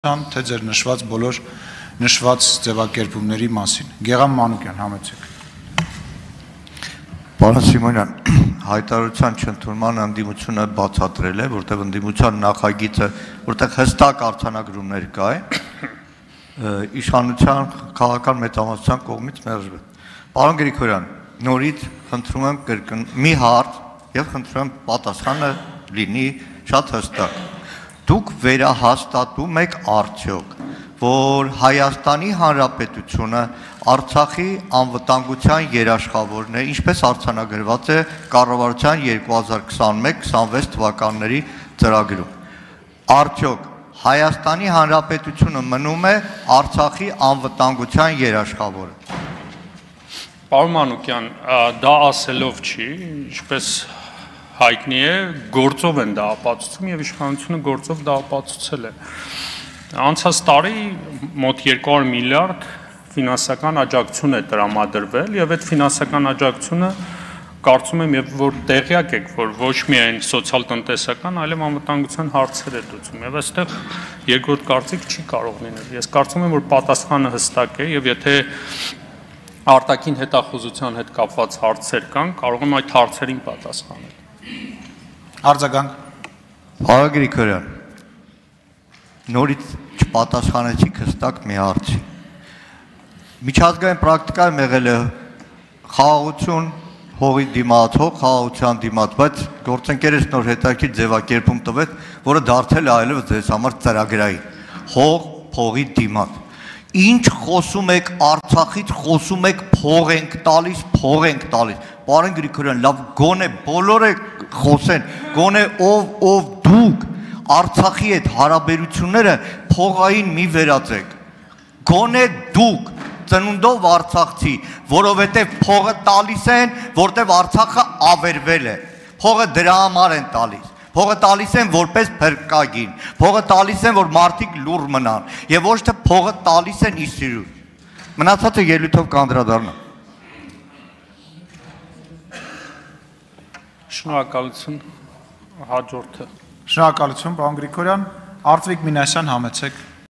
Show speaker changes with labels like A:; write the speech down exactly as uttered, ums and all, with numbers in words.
A: թե ձեր նշված բոլոր նշված ձևակերպումների մասին։ Գեղամ Մանուկյան, համեցեք։
B: Պարոն Սիմոնյան, հայտարարության չընդունման ընդդիմությունը բացատրել է, որտեղ ընդդիմության նախագիծը, որտեղ հստակ արձանագրումներ կա է, իշխանության քաղաքական մեծամասնության կողմից մերժվել։ Պարոն Գրիգորյան, նորից խնդրում եմ կրկն մի հարց եւ խնդրում եմ պատասխանը լինի շատ հստակ։ Դուք վերահաստատում եք արդյոք, որ Հայաստանի Հանրապետությունը Արցախի անվտանգության երաշխավորն է, ինչպես արձանագրված է կառավարության երկու հազար քսաներկու քսանվեց թվականների ծրագրում։ Արդյոք Հայաստանի Հանրապետությունը մնում է Արցախի անվտանգության երաշխավորը։
C: Պարոն Մանուկյան, դա ասելով չի, ինչպես հայտնի է, գործով են դա ապացուցում եւ իշխանությունը գործով դա ապացուցել է։ Անցած տարի մոտ երկու հարյուր միլիարդ ֆինանսական աջակցություն է տրամադրվել եւ այդ ֆինանսական աջակցությունը կարծում եմ եւ որ տեղյակ եք, որ ոչ միայն սոցիալ-տնտեսական, այլև անվտանգության հարցեր է դուցում եւ այստեղ երկրորդ կարծիք չի կարող լինել։ Ես կարծում եմ, որ պատասխանը հստակ է եւ եթե արտաքին հետախուզության հետ կապված հարցեր կան, կարող եմ այդ հարցերին պատասխանել։
A: Արձագանք։
B: Պարոն Գրիգորյան, նորից չպատասխանեցիք հստակ մի հարցի։ Միջազգային պրակտիկայում եղել է խաղաղություն հողի դիմաց, հող խաղաղության դիմաց, բայց գործընկերս նոր հետաքրքիր ձևակերպում տվեց, որը դարձել է այլևս ձեզ համար ծրագրային։ Հող փողի դիմաց։ Ինչ խոսում եք Արցախից, խոսում եք փող ենք տալիս, փող ենք տալիս։ Պարոն Գրիգորյան, լավ գոնե բոլորը խոսեն, գոնե ով ով դուք Արցախի հետ հարաբերությունները փողային մի վերածեք։ Գոնե դուք ծնունդով Արցախցի, որովհետև փողը տալիս են, որտեղ Արցախը ավերվել է։ Փողը դրա համար են տալիս։ Փողը տալիս են որպես փրկագին, փողը տալիս են, որ մարդիկ լուռ մնան, եւ ոչ թե փողը տալիս են իր սիրուն։ Մնացածը ելույթով կանդրադառնամ։
C: Շնորհակալություն, հաջորդը։
A: Շնորհակալություն, պարոն Գրիգորյան, Արտվիկ Մինասյան, համեցեք։